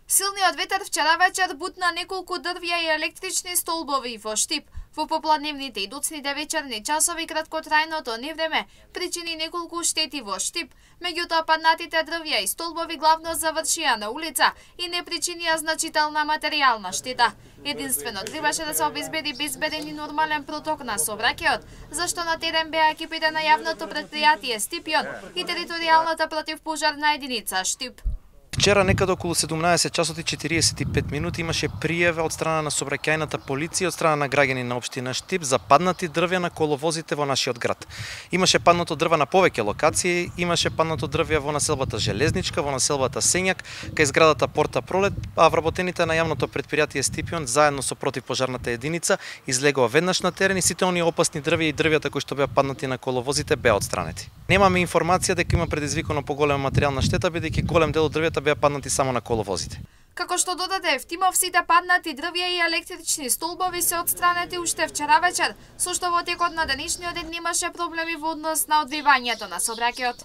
Силниот ветер вчера вечер бутна неколку дрвја и електрични столбови во Штип. Во попладневните и доцните вечерни часови краткотрајното невреме причини неколку штети во Штип. Меѓутоа паднатите дрвја и столбови главно завршија на улица и не причинија значителна материјална штета. Единствено требаше да се обезбеди безбеден и нормален проток на сообраќајот, зашто на терен беа екипите на јавното претпријатие Штипјон и територијалната противпожарна единица Штип. Вчера некаде околу 17 часот и 45 минути имаше пријава од страна на сообраќајната полиција, од страна на граѓани на општина Штип за паднати дрвја на коловозите во нашиот град. Имаше паднато дрва на повеќе локации, имаше паднато дрвја во населбата Железничка, во населбата Сењак, кај зградата Порта Пролет, а вработените на јавното претпријатие Штипјон заедно со противпожарната единица излегува веднаш на терен и сите оние опасни дрвја и дрвјата кои што беа паднати на коловозите беа отстранети. Немаме информација дека има предизвикано поголема материјална штета, бидејќи голем дел од дрвјата беа паднати само на коловозите. Како што додаде Евтимов, сите паднати дрвја и електрични столбови се отстранети уште вчера вечер, со што во текот на денешниот ден немаше проблеми во однос на одвивањето на сообраќајот.